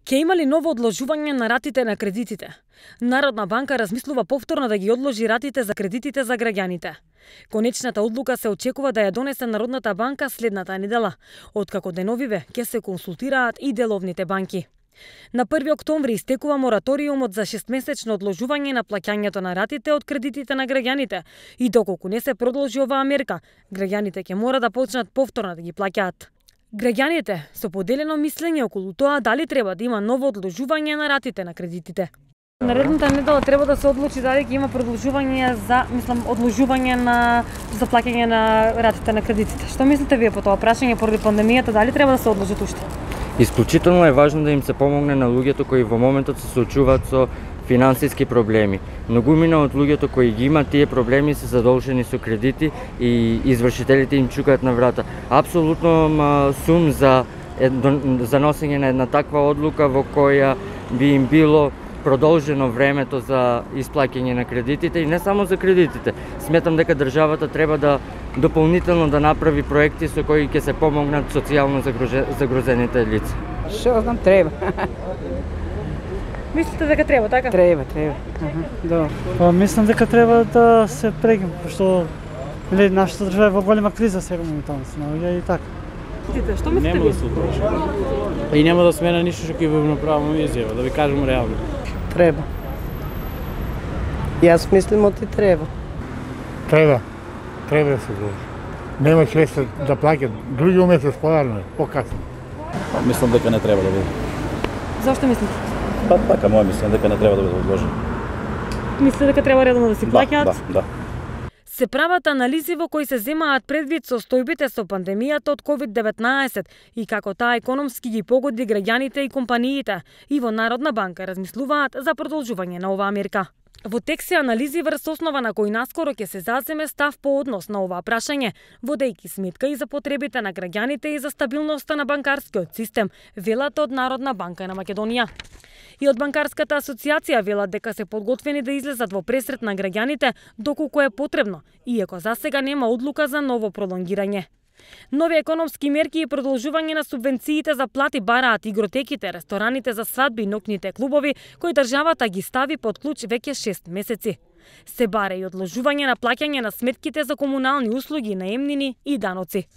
Ке има ли ново одложување на ратите на кредитите? Народна банка размислува повторно да ги одложи ратите за кредитите за граѓаните. Конечната одлука се очекува да ја донесе Народната банка следната недела, откако деновиве ќе се консултираат и деловните банки. На 1 октомври истекува мораториумот за 6-месечно одложување на плаќањето на ратите од кредитите на граѓаните и доколку не се продолжи оваа мерка, граѓаните ќе мора да почнат повторно да ги плаќаат. Граѓаните со поделено мислење околу тоа дали треба да има ново одложување на ратите на кредитите. Наредната недела треба да се одлучи дали ќе има продолжување одложување за плаќање на ратите на кредитите. Што мислите вие по тоа прашање поради пандемијата, дали треба да се одложат уште? Исклучително е важно да им се помогне на луѓето кои во моментот се соочуваат со финансиски проблеми. Многумина од луѓето кои ги имаат тие проблеми се задолжени со кредити и извршителите им чукаат на врата. Апсолутно сум за носење на една таква одлука во која би им било продолжено времето за исплаќање на кредитите и не само за кредитите. Сметам дека државата треба да дополнително да направи проекти со кои ќе се помогнат социјално загрозените лица. Што знам, треба. Мислите дека треба, така? Треба. Да. Па мислам дека треба да се прегим, пошто нашата држава е во голема криза сега моментално се наоѓа и така. Што мислите Нема да се одлучи. И нема да смена ништо што ќе ви направам изјава, да ви кажам реално. Треба. Јас мислам оти треба. Треба да се одлучи. Нема шеста да плаќат други месец подарно, покасно. Мислам дека не треба да биде. Зошто мислите? Па така, моја мислам дека не треба да биде одложено. Мислите дека треба редовно да си плаќаат? Да. Се прават анализи во кои се земаат предвид состојбите со пандемијата од COVID-19 и како таа економски ги погоди граѓаните и компаниите, и во Народна банка размислуваат за продолжување на оваа мерка. Во текст се анализи врз основа на кој наскоро ќе се заземе став по однос на оваа прашање, водејќи сметка и за потребите на граѓаните и за стабилноста на банкарскиот систем, велат од Народна банка на Македонија. И од Банкарската асоциација велат дека се подготвени да излезат во пресрет на граѓаните доколку е потребно, иако засега нема одлука за ново пролонгирање. Нови економски мерки и продолжување на субвенциите за плати бараат игротеките, рестораните за свадби и ноќните клубови, кои државата ги стави под клуч веќе 6 месеци. Се бара и одложување на плаќање на сметките за комунални услуги, наемнини и даноци.